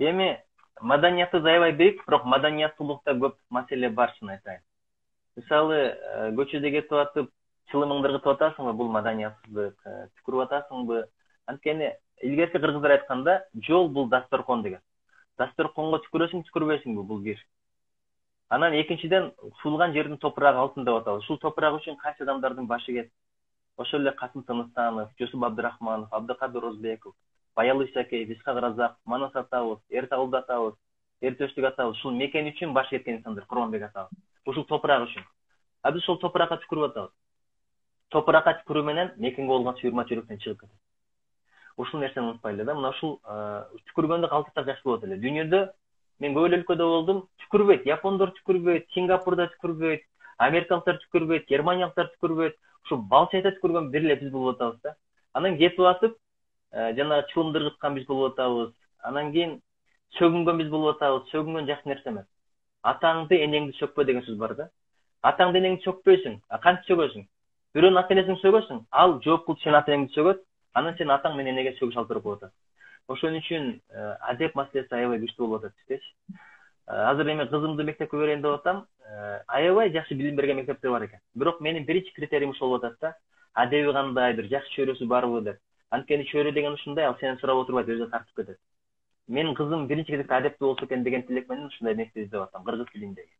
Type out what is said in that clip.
Эми маданиятыбыз аябай бийик, бирок маданияттуулукта көп маселе бар, чын айтайын. Мисалы, көчөдө кетип атып, чылымыңды ыргытып атасыңбы, бул маданиятсыздык, түкүрүп атасыңбы? Анткени илгерки кыргыздар айтканда, жол бул дасторкон деген. Дасторконго түкүрөсүң, түкүрбөйсүңбү, бул бир. Анан экинчиден, сулган жердин топурагы алтын деп атабыз. Ушул топурак үчүн кайсы адамдардын башы кетти. Ошол эле Касым Тыныстанов, Жусуп Абдрахманов, Абдыкадыр Озбеков, Баял Исакеев, Исхак Разак, Манас атабыз, Эртагулды атабыз, Эртөштүк атабыз, ушул мекен үчүн башы кеткен инсандар, Курманбек атабыз. Ушул топурак үчүн. А биз ошол топуракка түкүрүп атабыз. Топуракка түкүрүү менен мекенге болгон сүйүрмө жүрөктөн чыгып кетет. Ушул нерсени унутпайлы да. Мына ушул түкүргөндө калтырсак жакшы болот эле. Дүйнөдө мен көп эле өлкөдө болдум, түкүрбөйт. Япондор түкүрбөйт, Сингапурда түкүрбөйт, америкалыктар түкүрбөйт, германиялыктар түкүрбөйт. Ушул балчайда түкүргөн бир эле биз болуп атабыз да. Анан кетип атып, жана чылымды ыргыткан биз болуп атабыз. Анан кийин сөгүнгөн биз болуп атабыз. Сөгүнгөн жакшы нерсе эмес. Атаңды, энеңди сөкпө деген сөз бар да. Атаңды, энеңди сөкпөйсүң. Кантип сөгөсүң? Бирөөнүн ата энесин сөгөсүң, ал жооп кылып сенин ата энеңди сөгөт, анан сен атаң менен энеге сөгүш алып берип коет. Ошон үчүн адеп маселеси аябай күчтүү болуп атат биздечи. Азыр эми кызымды мектепке берейин деп атам. Аябай жакшы билим берген мектептер бар экен. Бирок менин биринчи критериим ушул болуп атат да. Адеби кандайдыр, жакшы чөйрөсү барбы деп. Анткени чөйрө деген ушундай, ал сени сурап отурбайт, өзү тартып кетет. Менин кызым биринчи кезекте адептүү болсо экен деген тилек менен ушундай нерсе издеп атам, кыргыз тилиндеги.